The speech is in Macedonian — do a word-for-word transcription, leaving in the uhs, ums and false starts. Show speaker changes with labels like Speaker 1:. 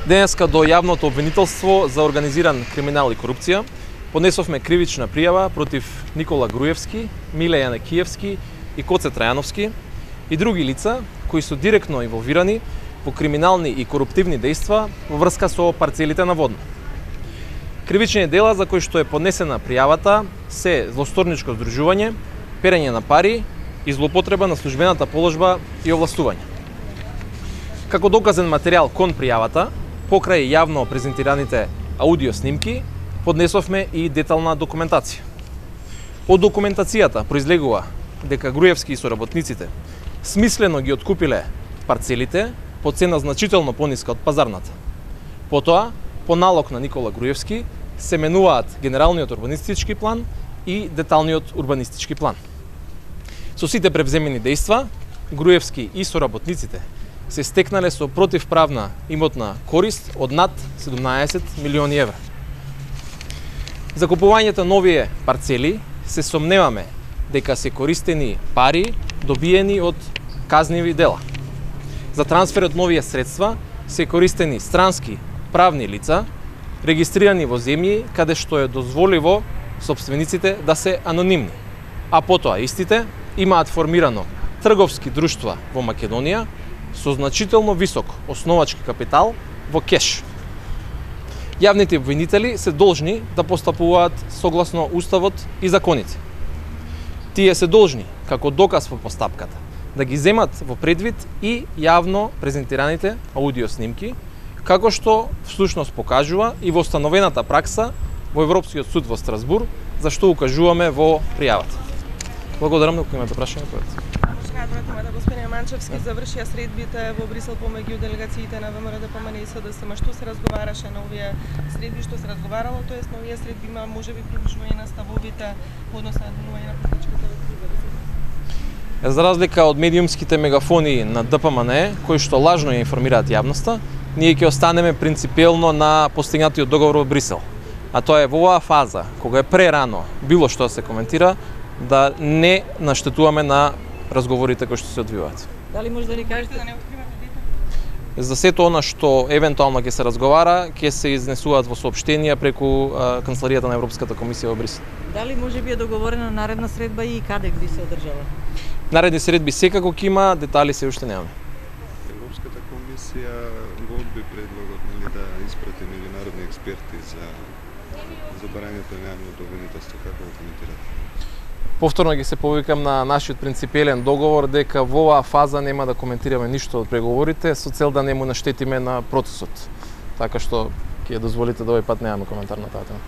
Speaker 1: Денеска до јавното обвинителство за организиран криминал и корупција поднесовме кривична пријава против Никола Груевски, Миле Јанекиевски и Коце Трајановски и други лица кои се директно инволвирани во криминални и коруптивни дејства во врска со парцелите на Водно. Кривични дела за кои што е поднесена пријавата се злосторничко здружување, перење на пари и злоупотреба на службената положба и овластување. Како доказен материјал кон пријавата, покрај јавно презентираните аудио снимки, поднесовме и детална документација. Од документацијата произлегува дека Груевски и соработниците смислено ги откупиле парцелите по цена значително пониска од пазарната. Потоа, по налог на Никола Груевски, се менуваат генералниот урбанистички план и деталниот урбанистички план. Со сите превземени дејства, Груевски и соработниците се стекнале со противправна имотна корист од над седумнаесет милиони евра. За купувањето на овие парцели се сомневаме дека се користени пари добиени од казниви дела. За трансферот на овие средства се користени странски правни лица, регистрирани во земји каде што е дозволиво сопствениците да се анонимни, а потоа истите имаат формирано трговски друштва во Македонија со значително висок основачки капитал во кеш. Јавните обвинители се должни да постапуваат согласно уставот и законите. Тие се должни, како доказ во постапката, да ги земат во предвид и јавно презентираните аудио снимки, како што всушност покажува и во установената пракса во Европскиот суд во Страсбур, за што укажуваме во пријавата. Благодарам, ако имате прашање, поведете.
Speaker 2: Да господин Манчевски завршија средбите во Брисел помеѓу делегациите на ВМРО, ДПМН и СДСМ. Што се разговараше на овие средби, што се разговарало, тоест на овие средби има можеби приличување на ставовите во однос на денување на политичката криза?
Speaker 1: За разлика од медиумските мегафони на ДПМН, кои што лажно ја информираат јавноста, ние ќе останеме принципиелно на постигнатиот договор во Брисел. А тоа е во оваа фаза, кога е прерано било што се коментира, да не наштетуваме на разговорите кои што се одвиваат.
Speaker 2: Дали може да ни кажете да не откривате детали?
Speaker 1: За сето она што евентуално ќе се разговара, ќе се изнесуваат во соопштенија преку а, канцеларијата на Европската комисија во Брисел.
Speaker 2: Дали може би е договорена наредна средба и каде би се одржала?
Speaker 1: Наредни средби секако ќе има, детали се уште немаме.
Speaker 3: Европската комисија го одби предлогот нели да испрати меѓународни експерти за за барањето на јавното обвинителство. Како го коментирате?
Speaker 1: Повторно ги се повикам на нашиот принципиелен договор дека во оваа фаза нема да коментираме ништо од преговорите со цел да не му наштетиме на процесот. Така што ќе дозволите да овој пат немаме коментар на таа тема.